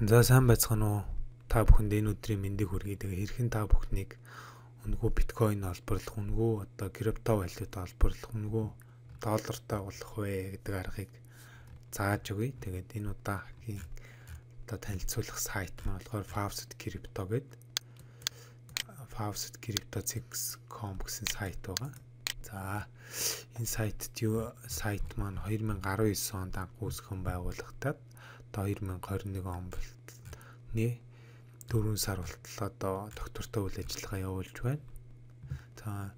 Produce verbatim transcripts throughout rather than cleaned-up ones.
За сайн байцгаана уу? Та бүхэнд энэ өдрийн мэндийг хүргэе. Тэгээ хэрхэн та бүхнийг үнэгүй биткойн олборлох, үнэгүй одоо крипто валют олборлох, үнэгүй доллартай болох вэ гэдэг аргыг зааж өгье. Тэгээд энэ удаагийн одоо танилцуулах сайт маань болохоор Faucet Crypto гэдэг Faucet Crypto зет ком гэсэн сайт байгаа. За энэ сайтд юу сайт маань two thousand nineteen онд анх үүсгэн байгуулагдаад одоо two thousand twenty-one он болтолны дөрвөн сар болтол одоо доктортой үйл ажиллагаа явуулж байна. За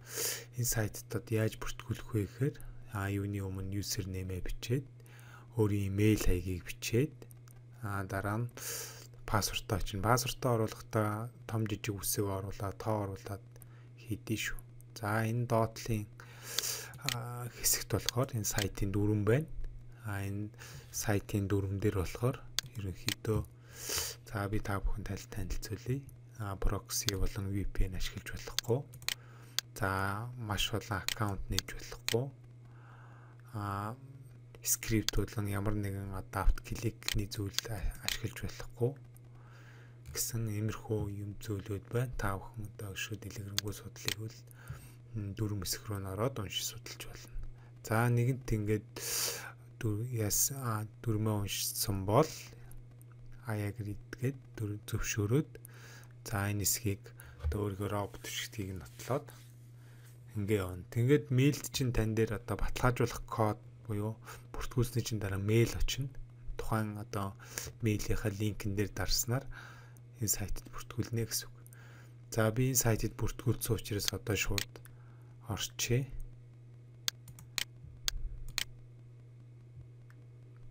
энэ сайтад яаж бүртгүүлэх вэ гэхээр а юуны өмнө user name-ээ бичээд өөрийн email хаягийг бичээд а дараа нь пассвортоо чинь пассвортоо оруулахдаа том жижиг үсэг оруулаад тоо оруулаад хийдэж шүү. За энэ доотлын хэсэгт болохоор энэ сайтын дүрэн байна. А энэ сайтын дүрэн дээр болохоор ерөнхийдөө за би та бүхэн тал танилцуулъя. А прокси болон ви пи эн ашиглаж болохгүй. За маш олон аккаунт нээж болохгүй. А скрипт болон ямар нэгэн адапт кликний зүйл ашиглаж болохгүй гэсэн иймэрхүү юм зүйлүүд байна. Та бүхэн одоо өшөө дэлгэрэнгүй судлыг бол дөрвөн хэсэг рүү ороод уншиж судалж болно. За нэгэнт ингээд яс дөрмөө уншсан бол аяг ridгээд зөвшөөрөөд за энэ хэсгийг өөргөө робот шигтгийг нотлоод ингээ явна. Тэгээд мэйлд чинь тань дээр одоо баталгаажуулах код буюу бүртгүүлсний чинь дараа мэйл очино. Тухайн одоо мэйлийнхаа линкэн дээр дарснаар энэ сайтад бүртгүүлнэ гэсэн үг. За би энэ сайтад бүртгүүлсэн учраас одоо шууд орчъя.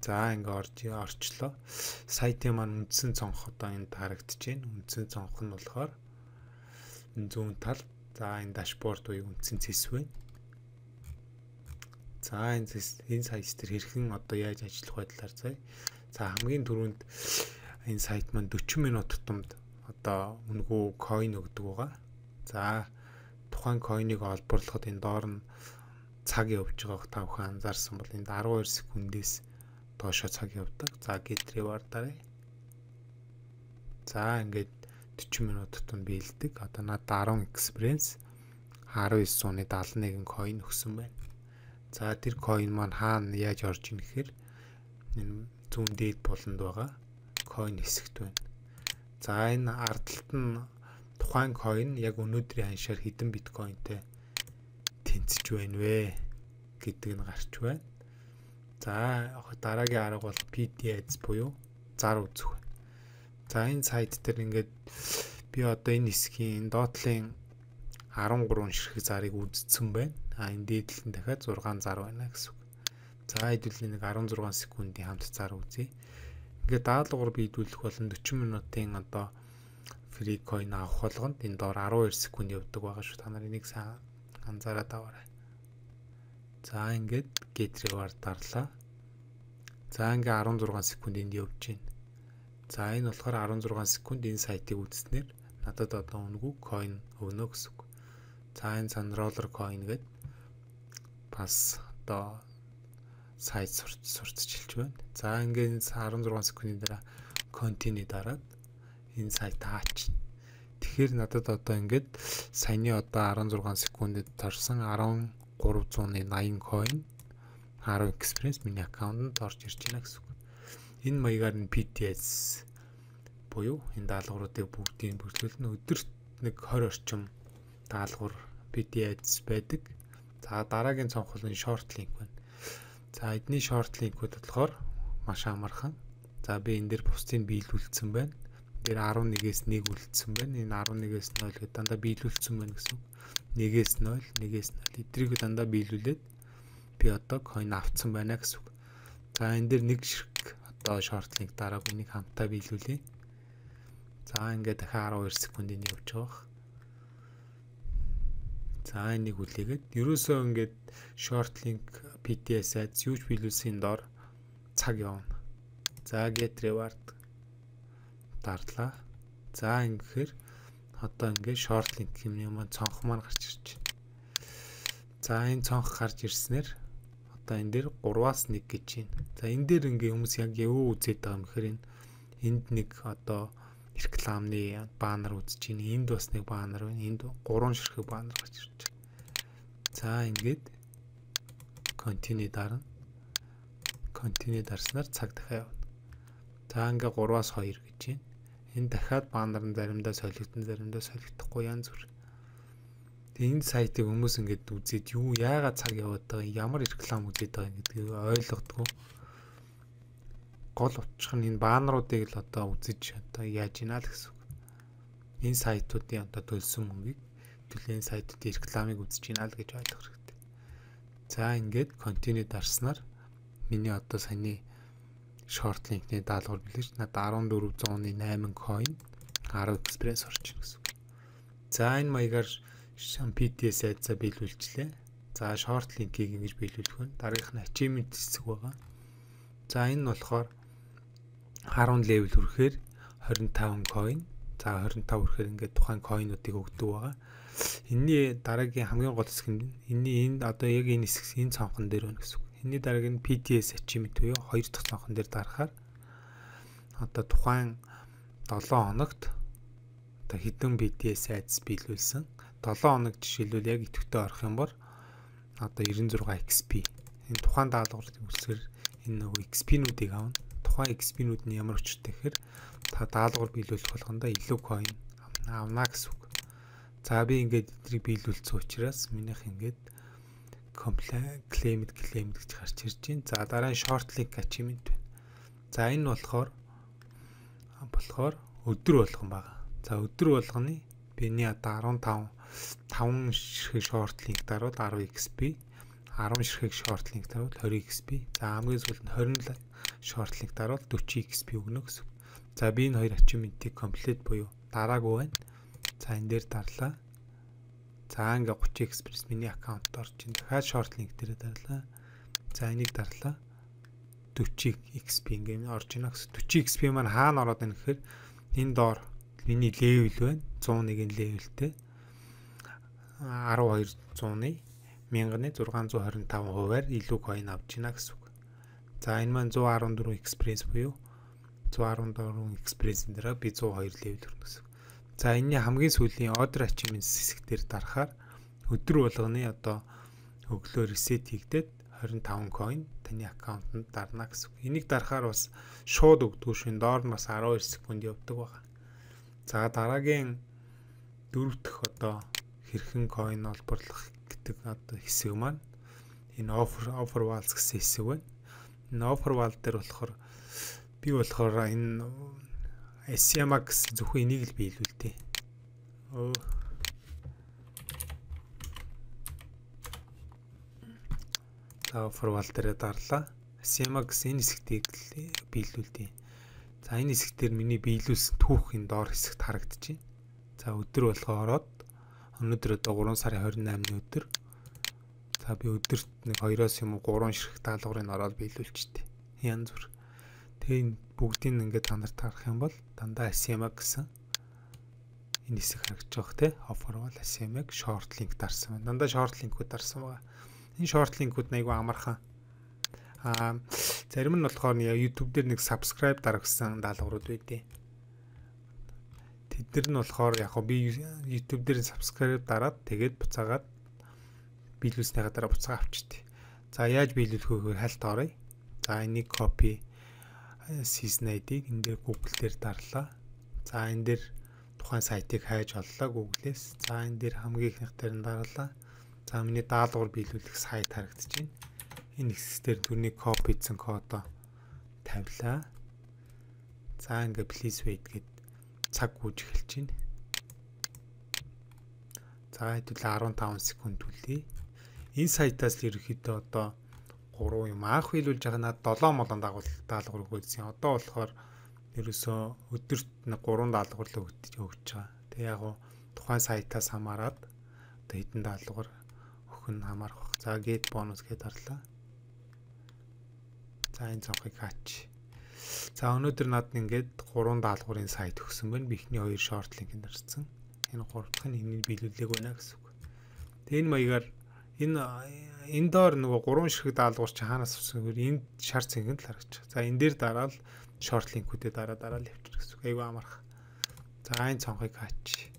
За ингээ орж орчлоо. Сайтын маань үндсэн цонх одоо энд харагдаж байна. Үндсэн цонх нь болохоор энэ зүүн тал. За энэ дашборд буюу үндсэн цэс байна. За энэ энэ сайт дээр хэрхэн одоо яаж ажиллах вэ талаар заяа. За хамгийн түрүүнд энэ сайт маань forty минут тутамд одоо үнэгүй coin өгдөг байгаа. За тухайн coin-ыг олборлоход энэ доор нь цаг явж байгааг та бүхэн анзаарсан бол энд twelve секундээс доошо цаг явдаг. За get reward дараа. За ингээд forty минут тутамд биелдэг. Одоо надад ten experience nineteen сууны seventy-one coin өгсөн байна. За тэр coin маань хаана яаж орж ийн гэхээр энэ зүүн дээд болонд байгаа coin хэсэгт байна. За энэ ардталт нь тухайн coin яг өнөөдрийн ханшаар хэдэн биткойнтэй тэнцэж байна вэ гэдэг нь гарч байна. За дараагийн арга бол пи ди эйч буюу зар үзэх байна. За энэ сайт дээр ингээд би одоо энэ хэсгийн доотлын thirteen ширхэг зарыг үзсэн байна. А энэ дээдлэл нь дахиад six зар байна гэсэн үг. За хэдүүлээ нэг sixteen секундын хамт зар үзье. Ингээд даалгавар биедүүлэх болон forty минутын одоо фри coin авах болгонд энэ доор twelve секунд явдаг байгаа шүү. Та нар энийг сайн анзаараад аваарай. За ингээд get reward дарлаа. За ингээд sixteen секунд энд явж байна. За энэ болохоор sixteen секунд энэ сайтыг үзснээр надад одоо үнэгүй coin өгнө гэсэн үг. За энэ цан roller coin гэдэг бас одоо сайт сурталчилж байна. За ингээд sixteen секундын дараа continue дараад энэ сайт хаач. Тэгэхээр надад одоо ингээд саяны одоо sixteen секундэд торсон thirteen eighty coin ten experience миний аккаунтанд орж ирж байна гэсэн үг. Энэ маягаар нь пи ди эйч буюу энэ даалгавруудыг бүгдийг бүртлүүлнэ. Өдөрт нэг twenty орчим даалгавар пи ди эйч байдаг. За дараагийн цонх бол энэ short link байна. За эдний short link-үүд болохоор маш амархан. За би энэ дээр бусдыг биелүүлсэн байна. Тэр eleven-ээс one үлдсэн байна. Энэ eleven-ээс zero гэдэг дандаа биелүүлсэн байна гэсэн үг. one-ээс zero, one-ээс zero. Эдрийг дандаа биелүүлээд би одоо coin авцсан байна гэсэн үг. За энэ дээр нэг ширхэг одоо short link дарааг энийг хамтаа биелүүлье. За ингээд дахиад twelve секундын явж байгаа. За энийг үлээгээд ерөөсөө ингээд short link пи ди эйч сайт юуж биелүүлсэн доор цаг явна. За get reward дарлаа. За ингэхээр одоо ингээд short link хэмнээ маань цонх маань гарч ирж байна. За энэ цонх гарч ирснээр одоо энэ дээр three-аас one гэж байна. За энэ дээр ингээ хүмүүс яг юу үзээд байгаа юм гэхээр энэ энд нэг одоо рекламны баннер үзэж байна. Энд бас нэг баннер байна. Энд гурван ширхэг баннер гарч ирж байна. За ингээд continue дарна. Continue дарснаар цаг дахиад явна. За ингээ гураваас хоёр гэж байна. Энэ дахиад баннер нь заримдаа солигдсон, заримдаа солигдохгүй янз бүр. Тэгээ энэ сайтыг хүмүүс ингээд үзээд юу яагаад цаг яваад байгаа, ямар реклам үзээд байгаа гэдгийг ойлгодгүй. Гол учир нь энэ баннеруудыг л одоо үзэж одоо яаж ийна л гэсэн үг. Энэ сайтуудын одоо төлсөн мөнгийг төлөө энэ сайтуудын рекламыг үзэж ийна л гэж ойлгох хэрэгтэй. За ингээд continue дарснаар миний одоо саяны short link-ний даалгавар билэж надад арван дөрвөн зуун найман coin арав express орж ийн гэсэн үг. За энэ маягаар пи ти эс айдсаа биелүүлчлээ. За short link-ийг ингэж биелүүлэх нь дараагийнх нь achievement хэсэг байгаа. За энэ нь болохоор арван level хүрэхээр двадцать пять coin. За двадцать пять хүрэхээр ингээд тухайн coin-уудыг өгдөг байгаа. Энийний дараагийн хамгийн гол хэсэг нь энэний энэ одоо яг энэ хэсэг энэ цонхон дээр байна гэсэн үг. Энэний дараагийн пи ти эс achievement буюу хоёр дахь цонхон дээр дарахаар одоо тухайн долоон хоногт одоо хэдэн пи ти эс айдс биелүүлсэн. долоон хоног жишээлбэл яг идэвхтэй орох юм бол одоо девяносто шесть икс пи. Энэ тухайн даалгаврын үлсгэр энэ нөгөө икс пи-нүүдийг авна. Тухайн икс пи-нүүд нь ямар өчртэй гэхээр та даалгавар биелүүлэх болгондоо илүү coin авна гэсэн үг. За би ингээд эдрийг биелүүлсэн учраас минийх ингээд claimed claimed гэж гарч ирж байна. За дараа нь short link achievement байна. За энэ болохоор болохоор өдөр болгон байгаа. За өдөр болгоны биний одоо арван таван таван ширхэг short link даруул десять икс пи, арван ширхэг short link даруул двадцать икс пи. За хамгийн сүүлд нь двадцать short link даруул forty икс пи өгнө гэсэн. За би энэ хоёр achievement-ийг complete буюу дараагүй байна. За энэ дээр дарлаа. За ингээ thirty express миний аккаунт орж ин. Дахиад short link дээр дарлаа. За энийг дарлаа. forty икс пи ингээ орж ийн гэсэн. forty икс пи маань хаана ороод байна гэхээр энэ доор миний level байна. one oh one levelтэй. twelve зууны мянганы six twenty five хувиар илүү coin авч ийна гэсэн үг. За энэ маань one fourteen express буюу one fourteen express-ийн дараа би one oh two level хүрнэ гэсэн. За энэний хамгийн сүүлийн order achievements хэсгээр дарахаар өдөр болгоны одоо өглөө reset хийгдээд twenty-five coin таны аккаунтанд дарна гэсэн. Энийг дарахаар бас шууд өгдөг шин доор нь бас twelve секунд явдаг байна. За дараагийн дөрөв дэх одоо хэрхэн coin олборлох гэдэг одоо хэсэг маань энэ offer offer walls гэсэн хэсэг байна. Энэ offer wall дээр болохоор би болохоор энэ эс эм икс зөвхөн энийг л биелүүлдэг. Оо. За offer wall дээр дарлаа. эс эм икс энэ хэсгтийг биелүүлдэг. За энэ хэсгээр миний биелүүлсэн түүх энэ доор хэсэгт харагдаж байна. За өдөр болгоо ороод өнөөдөр одоо three сарын twenty-eighны өдөр. За би өдөрт нэг two-оос юм уу three ширхэг даалгаврыг ороод биелүүлчихдээ. Янз бүр. Тэгээ энэ бүгдийг ингээд та нарт харах юм бол дандаа эс эм гэсэн энэ хэсэг харагдаж байгаа те. Offer wall эс эм short link дарсан байна. Дандаа short link-үүд дарсан байгаа. Энэ short link-үүд нь айгүй амархан. Аа зарим нь болохоор YouTube дээр нэг subscribe дарагсан даалгаврууд байдیں۔ Тэд нар нь болохоор яг би YouTube дээр subscribe дараад тэгээд буцаагаад биелүүлснийхаа дараа буцаа авчихдээ. За яаж биелүүлэх вэ хальт оръё. За энийг copy season ай ди-г энэ дээр Google дээр дарлаа. За энэ дээр тухайн сайтыг хайж оллоо Google-ээс. За энэ дээр хамгийн ихнийх дээр нь дарлаа. За миний даалгавар биелүүлэх сайт харагдаж байна. Энэ хэсгээр түрний copy-сэн кодоо тавилаа. За ингээ please wait гэд цаг гүйж эхэлж байна. За хэдүүл fifteen секунд үлээ. Энэ сайтаас л ерөөхдөө одоо three юм анх биелүүлж байгаа надад seven молон дагуул даалгавар өгөөдсөн. Одоо болохоор ерөөсөө өдөрт нэг three даалгавар л өгч байгаа. Тэг яг гоо тухайн сайтаас хамаарат одоо хэдэн даалгавар өгөх нь хамаарх баг. За get bonus гэдээ дарлаа. За энэ цонхыг хаач. За өнөөдөр надад ингээд three даалгаврын сайт өгсөн байна. Би ихний two short link-ийг дарсан. Энэ гурав дахь нь энийг биелүүлээг байна гэсэн үг. Тэгээ энэ маягаар энэ энэ доор нөгөө three ширхэг даалгавар чи хаанаас авсан вэ? Энэ шар цэнгэнд л харагч. За энэ дээр дараал short link-үүдээ дараа дараа л явчих гэсэн. Айгу амарх. За энэ цонхыг хаач.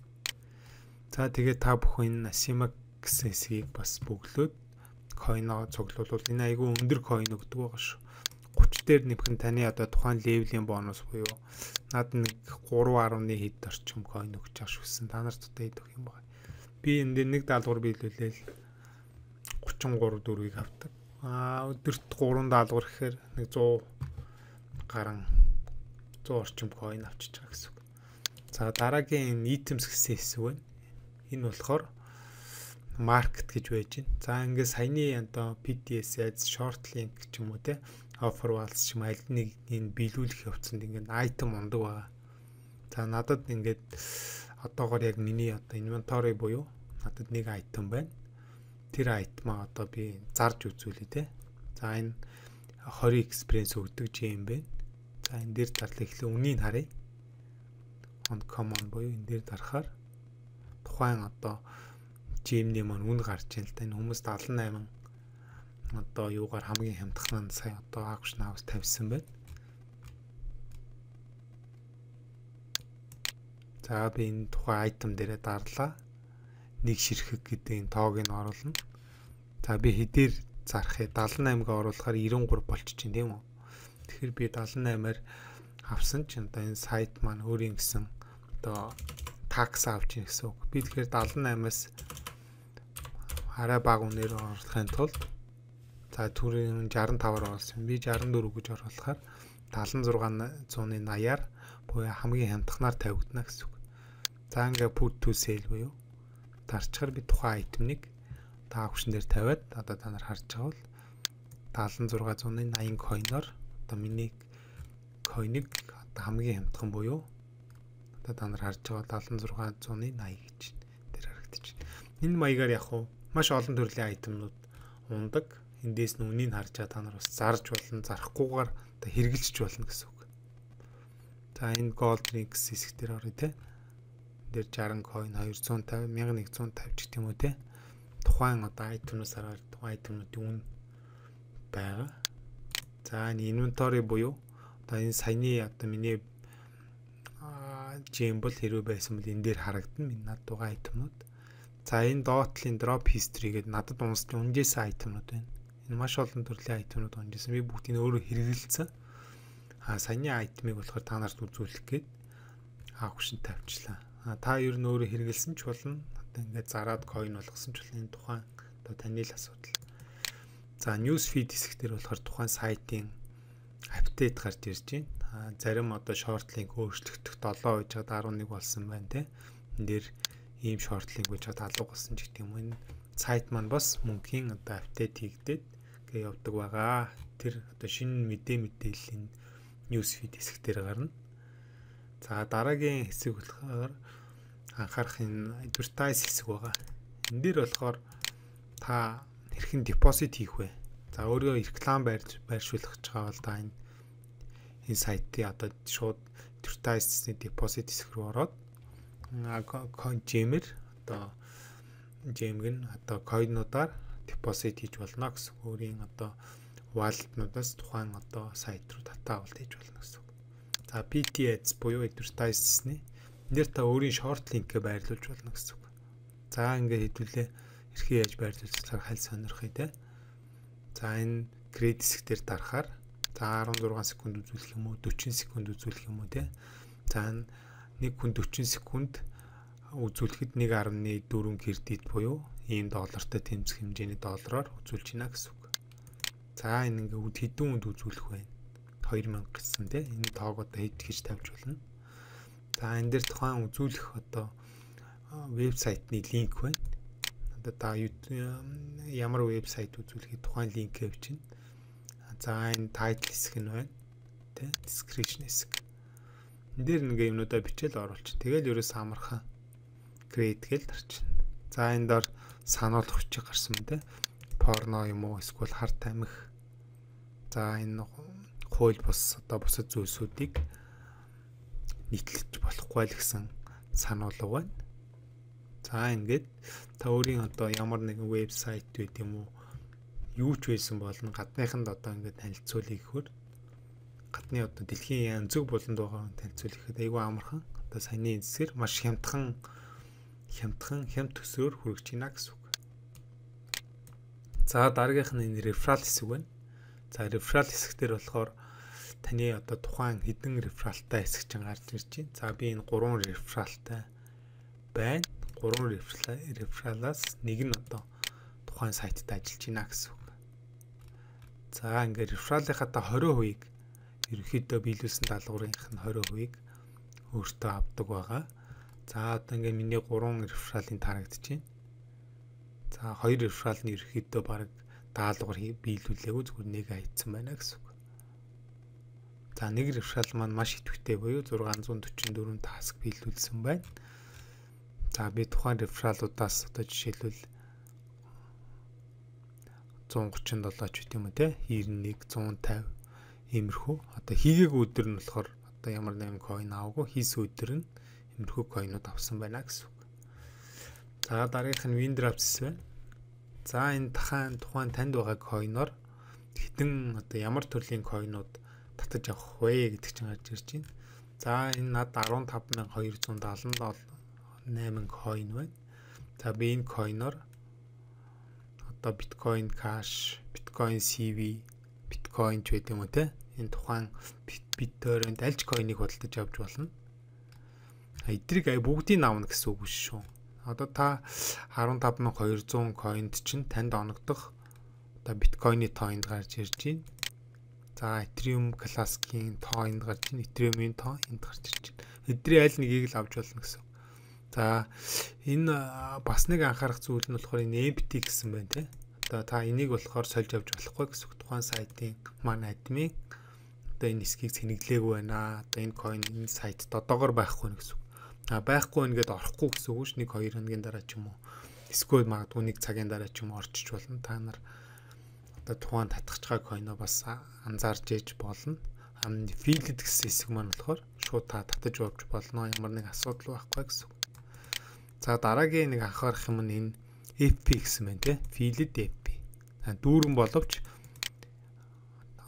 За тэгээд та бүхэн Asima гэсэн хэсгийг бас бөглөөд coin-оо цуглуулвал энэ айгу өндөр coin өгдөг байгаа шүү. thirty дээр нэмэх нь таны одоо тухайн левелийн бонус буюу над нэг three point one хэд орчим coin өгч байгаа шүүсэн. Та нарт одоо хэд өгөх юм бэ? Би энэ дээр нэг даалгавар биелүүлээл thirty-three дөрвийг авдаг. Аа өдөрт three даалгавар гэхээр нэг one hundred гарan one hundred орчим coin авчиж байгаа гэсэн үг. За дараагийн items гэсэн хэсэг байна. Энэ болохоор market гэж байж байна. За ингээд саяны одоо пи ти эс ads, short link ч юм уу те offer walls ч юм аль нэг энэ биелүүлэх явцанд ингээд item ундаг байгаа. За надад ингээд одоогоор яг миний одоо inventory буюу надад нэг item байна. Тэр item-а одоо би зарж үзүүлээ те. За энэ twenty experience өгдөг gem байна. За энэ дээр зарлаа эхлээ үнийг харъя. On common буюу энэ дээр дарахаар тухайн одоо gem-ний маань үн гарч ийн л да. Энэ хүмүүс seventy-eight одоо юугаар хамгийн хямдхан сая одоо auction house тавьсан байна. За би энэ тухайн item дээрээ дарлаа. Нэг ширхэг гэдэг энэ тоог нь оруулна. За би хэдээр зарахыг seventy-eight-г оруулахаар ninety-three болчих чинь тийм үү? Тэгэхээр би seventy-eight-аар авсан чинь одоо энэ сайт маань өөрийн гэсэн одоо такс авч ийн гэсэн үг. Би тэгэхээр seventy-eight-аас арай бага үнээр оруулахын тулд за түрүүн sixty-five-аар оруулсан. Би sixty-four гэж оруулахаар seventy-six eighty-аар буюу хамгийн хямдханаар тавигдана гэсэн үг. За ингээ put to sale буюу дарчгаар би тухайн айтемыг та auction дээр тавиад одоо та нар харж байгаа бол seventy-six eighty coin-оор одоо миний coin-ыг одоо хамгийн хямдхан буюу одоо та нар харж байгаа seventy-six eighty гэж тэр харагдаж байна. Энэ маягаар яг уу маш олон төрлийн айтемнууд ундаг. Эндээс нь үнийг харж байгаа та нар бас зарж болно, зарахгүйгээр одоо хэрэгжилж болно гэсэн үг. За энэ gold links хэсэг дээр орё те. Дээр sixty coin two fifty eleven fifty гэх юм уу те. Тухайн одоо айтемнаас хараад тухайн айтемнуудын үн байгаа. За энэ inventory буюу одоо энэ саяны одоо миний gem бол хэрвээ байсан бол энэ дээр харагдана. Миний над дугаа айтемнууд. За энэ dot-ийн drop history гэдэг надад унжсэн айтемнууд байна. Энэ маш олон төрлийн айтемнууд унжсэн. Би бүгдийг өөрөө хэрэгэлцсэн. А саяны айтемыг болохоор та нарт үзүүлэх гээд auction тавьчлаа. А та ер нь өөрөө хэрэгэлсэн ч болно. Одоо ингээд зараад coin болгосон ч болно. Энэ тухайн одоо таны л асуудал. За news feed хэсэг дээр болохоор тухайн сайтын апдейт гарч ирж байна. А зарим одоо short link өөрчлөгдөх seven үежээд eleven болсон байна те. Энд дээр ийм short link үежээд алга болсон ч гэдэг юм. Энэ сайт маань бас мөнхийн одоо апдейт хийгдээд гээ явдаг байгаа. Тэр одоо шинэ мэдээ мэдээллийн news feed хэсэг дээр гарна. За дараагийн хэсэг болохоор анхаарах энэ advertise хэсэг байгаа. Энд дээр болохоор та хэрхэн депозит хийх вэ? За өөрөө реклам байрж байршуулах гэж байгаа бол та энэ энэ сайтыг одоо шууд advertise-ны депозит хэсэг рүү ороод coin-gem-ээр одоо gem-г нь одоо coin-уудаар депозит хийж болно гэсэн. Өөрийн одоо wallet-нуудаас тухайн одоо сайт руу дата авалт хийж болно гэсэн. За пи ти эс буюу advertise-ны энэ дээр та өөрийн short link-гээ байрлуулж болно гэсэн. За ингээд хэдүүлээ эрхээ яаж байрлуулснаар халь сонирхъя те. За энэ credit хэсгээр дарахаар за sixteen секунд үзүүлэх юм уу, forty секунд үзүүлэх юм уу те. За нэг хүн forty секунд үзүүлэхэд one point four кредит буюу ийм доллартай тэмцэх хэмжээний доллараар үзүүлж байна гэсэн үг. За энэ ингээд хэдэн хүнд үзүүлэх вэ? two thousand гэсэн те. Энэ тоог одоо хэд гэж тавьж болно. За энэ дээр тухайн үзүүлэх одоо вебсайтны линк байна. Одоо та ямар вебсайт үзүүлэхэд тухайн линк авчина. За энэ title хэсэг нь байна. Тэ description хэсэг. Энд дээр нэг юмнуудаа бичээл оруулчих. Тэгэл ерөөс амархан create гээл дарчихна. За энэ дор сануулгах хүчиг гарсан мэн тэ. Порно юм уу эсвэл харт амих. За энэ хууль бус одоо бусад зүйлсүүдийг нийтлэж болохгүй л гэсэн сануулга байна. За ингээд та өөрийн одоо ямар нэгэн вебсайт байт юм уу юу ч байсан болно гадныханд одоо ингээд танилцуулъя гэхээр гадны одоо дэлхийн өнцөг буланд байгаа танилцуулахад айгүй амархан. Одоо саяны эсгээр маш хямдхан хямдхан хямд төсөөр хүрэж байна гэсэн үг. За дараагийнх нь энэ реферал хэсэг байна. За реферал хэсгээр болохоор таны одоо тухайн хэдэн рефералтай хэсэг чинь гарч ирж байна. За би энэ гурван рефералтай байна. гурван рефералаас нэг нь одоо тухайн сайтад ажиллаж байна гэсэн үг. За ингээд рефералынхаа та twenty хувийг ерөнхийдөө биелүүлсэн даалгаврынх нь twenty хувийг өөртөө авдаг байгаа. За одоо ингээд миний гурван рефералын тарагдаж байна. За хоёр реферал нь ерөнхийдөө баг даалгавар биелүүлээгүй зүгээр нэг хайцсан байна гэсэн үг. За нэг реферал маань маш идэвхтэй буюу six forty-four таск биелүүлсэн байна. За би тухайн рефералуудаас одоо жишээлбэл one thirty-seven ч гэдэм үү те ninety-one, one fifty иймэрхүү. Одоо хийгээгүй өдөр нь болохоор одоо ямар нэгэн coin аваагүй, хийсэн өдөр нь иймэрхүү coinууд авсан байна гэсэн үг. За дараагийнх нь Windraps байна. За энэ дахайн тухайн танд байгаа coin-оор хэдэн одоо ямар төрлийн coin-ууд татаж авах вэ гэдэг чинь гарч ирж байна. За энэ над fifteen thousand two hundred seventy-eight coin байна. За би энэ coin-оор одоо Bitcoin Cash, Bitcoin си ви, Bitcoin ч гэдэг юм уу те. Энэ тухайн BitTorrent альж coin-ыг худалдаж авч болно. Эдрийг ай бүгдийг авна гэсэн үг шүү. Одоо та fifteen thousand two hundred coinд чинь танд оногдох одоо Bitcoin-ы тоонд гарч ирж байна. За Ethereum Classic-ийн тоонд гарч байна. Ethereum-ийн тоо энд гарч ирж байна. Эдрийн аль нэгийг л авч болно гэсэн. За энэ бас нэг анхаарах зүйл нь болохоор энэ N F T гэсэн байна те. Одоо та энийг болохоор сольж авч болохгүй гэсэн. Тухайн сайтын маань админ одоо энэ хэсгийг цэнэглээгүй байна. Одоо энэ coin энэ сайтд одоогор байхгүй гэсэн. А байхгүй нэгэд орохгүй гэсэн үг ш. Нэг хоёр хоногийн дараа ч юм уу. Эсвэл магадгүй нэг цагийн дараа ч юм уу орчиж болно. Та нар одоо тухайн татгаж байгаа coin-о бас анзаарч ээж болно. Ам филд гэсэн хэсэг маань болохоор шууд та татаж авч болно. Ямар нэг асуудал байхгүй гэсэн. За дараагийн нэг анхаарах юм нь энэ F P гэсэн байна те. Филд F P. Дүүрэн боловч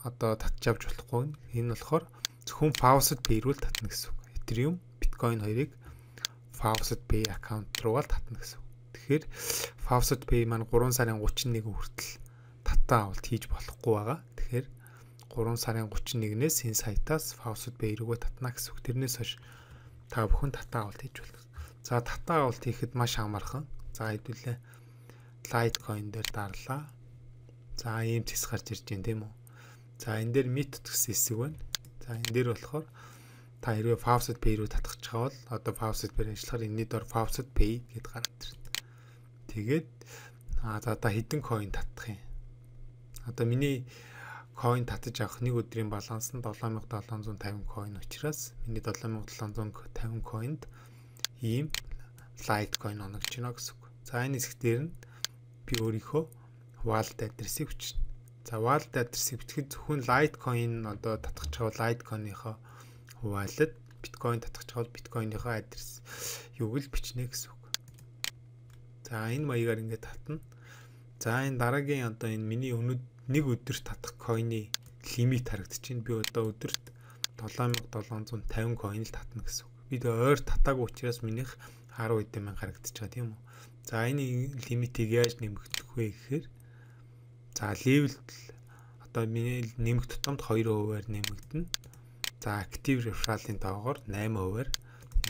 одоо татж авч болохгүй. Энэ болохоор зөвхөн Faucet Pay руу татна гэсэн үг. Ethereum, Bitcoin хоёрыг Faucet Pay аккаунт руугаа татна гэсэн. Тэгэхээр Faucet Pay маань three сарын thirty-one хүртэл татаа авалт хийж болохгүй байгаа. Тэгэхээр three сарын thirty-one-ээс энэ сайтаас Faucet Pay руугаа татна гэсэн. Тэрнээс хойш та бүхэн татаа авалт хийж болно. За татаа авалт хийхэд маш амархан. За хэдүүлээ Litecoin дээр дарлаа. За ийм зэс гарч ирж байна тийм үү. За энэ дээр Meet гэсэн хэсэг байна. За энэ дээр болохоор та хэрвээ Faucet Pay руу татах гэж байгаа бол одоо Faucet Pay ажиллахаар энэний дор Faucet Pay гэдээ гараад ирнэ. Тэгээд аа за одоо хэдэн coin татах юм. Одоо миний coin татаж авах нэг өдрийн баланс нь seven thousand seven hundred fifty coin учраас миний seven thousand seven hundred fifty coiнд ийм Litecoin оногч байна гэсэн үг. За энэ хэсэг дээр нь би өөрийнхөө wallet address-ийг бичнэ. За wallet address-ийг бичихэд зөвхөн Litecoin одоо татах чавал Litecoin-ийнхоо wallet, Bitcoin татах чавал Bitcoin-ийнхоо адрес юуг л бичнэ гэсэн үг. За энэ маягаар ингээд татна. За энэ дараагийн одоо энэ миний өнөд нэг өдөрт татах coin-ы лимит харагдчихээн. Би одоо өдөрт seven thousand seven hundred fifty coin л татна гэсэн үг. Би ойр татаагүй учраас минийх ten эдэн мянга харагдчих байгаа тийм үү. За энэ лимитийг яаж нэмэгдэх вэ гэхээр за level одоо миний нэмэх тутамд two percent-аар нэмэгдэнэ. За active referral-ын доогоор eight percent-аар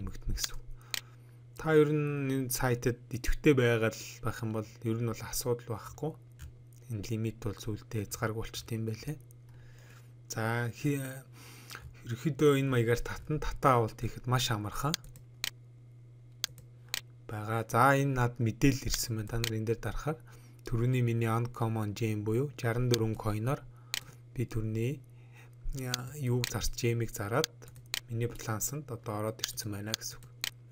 нэмэгдэнэ гэсэн. Та ер нь энэ сайтад идэвхтэй байгаа л байх юм бол ер нь бол асуудал байхгүй. Энэ лимит бол зүйлдээ хязгааргүй болчт юм байлээ. За ерөөхдөө энэ маягаар татан татаа авалт хийхэд маш амархан байгаа. За энэ над мэдээлэл ирсэн байна. Та нар энэ дээр дарахаар түрүүний миний uncommon gem буюу sixty-four coin-оор би түрүүний юуг зарч gem-ийг зараад миний балансанд одоо ороод ирсэн байна гэсэн.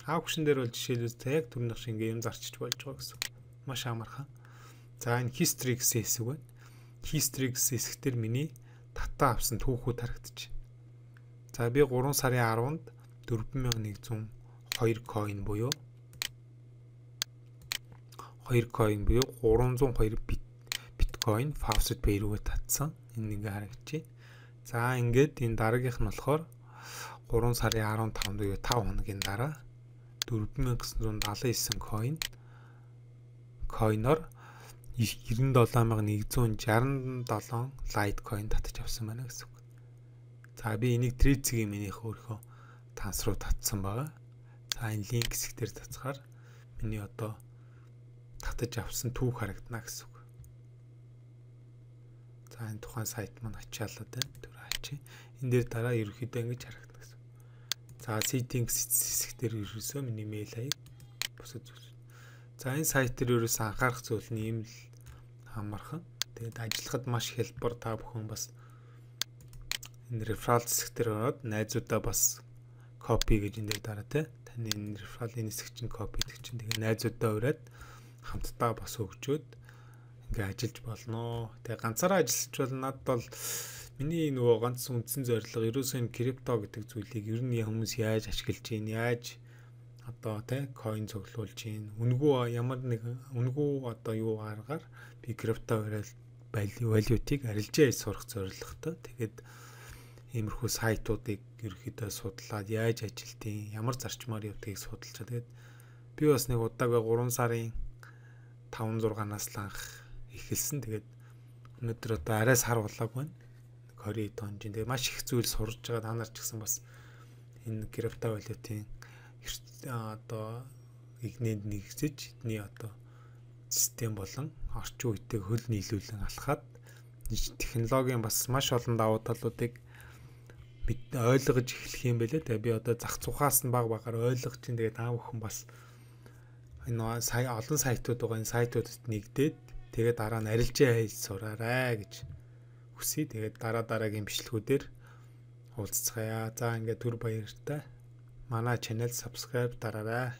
Аукшн дээр бол жишээлбэл яг түрүүнийх шиг юм зарчиж болж байгаа гэсэн. Маш амархан. За энэ history гэсэн хэсэг байна. History гэсэн хэсгээр миний татаа авсан түүхүүд харагдчих. За би three сарын tenth-нд four thousand one hundred two coin буюу two coin буюу three hundred two bit Bitcoin Faucet Pay руу татсан. Энэ ингээ харагдчих. За ингээд энэ дараагийнх нь болохоор гурван сарын арван тавнд буюу тав хоногийн дараа дөрвөн мянга гэсэн зуун далайн девять coin coin-оор девяносто долоо мянга нэгдүгээр шестьдесят seven Litecoin татаж авсан байна гэсэн үг. За би энийг Trezor-ийн минийх өөрийнхөө танс руу татсан байгаа. За энэ линк хэсгээр цацгаар миний одоо татаж авсан түүх харагдана гэсэн үг. За энэ тухайн сайт маань ачаалаад байна. Тэр ачи. Энэ дээр дараа ерөөхдөө ингэж харагдана гэсэн. За settings хэсгээр ерөөсөө миний мэйл хаяг бусад зүйл. За энэ сайт дээр ерөөсөө анхаарах зүйл нь ийм л хамархан. Тэгээд ажиллахад маш хялбар, та бүхэн бас энэ referral хэсгээр ороод найзуудаа бас copy гэж энэ дээр дараа те. Таны энэ referral-ийн хэсэг чинь copy гэдэг чинь тэгээ найзуудаа ураад хамтдаа бас өгчөөд ингээ ажиллаж болно. Тэгээ ганцаараа ажиллаж бол надад бол миний нөгөө ганц үндсэн зорилго ерөөсөө энэ крипто гэдэг зүйлийг ер нь хүмүүс яаж ашиглаж гин, яаж одоо тий coin цуглуулж гин, үнгүү ямар нэг үнгүү одоо юу аргаар би крипто валютыг арилжаа хийж сурах зорилготой. Тэгээд иймэрхүү сайтуудыг ерөөхдөө судлаад яаж ажилтیں, ямар зарчмаар явдгийг судалж байгаа. Тэгээд би бас нэг удаагаа гурван сарын таван зургаанаас л анх эхэлсэн. Тэгээд өнөөдөр одоо арай сар болоогүй байна. двадцать тонжин. Тэгээд маш их зүйл сурж байгаа. Та нар ч гэсэн бас энэ крипто валютын одоо игнэнд нэгсэж эдний одоо систем болон орчин үеийг хөл нийлүүлэн алхаад технологийн бас маш олон давуу талуудыг бид ойлгож эхлэх юм байлээ. Тэгээ би одоо зах цухаас нь баг багаар ойлгож чинь тэгээ та бүхэн бас энэ сая олон сайтууд байгаа. Энэ сайтуудад нэгдээд тэгээ дараа нь арилжаа хийж сураарай гэж хүсье. Тэгээд дараа дараагийн бичлэгүүдээр уулзцгаая. За ингээд түр баяртай. Манай channel subscribe дараарай.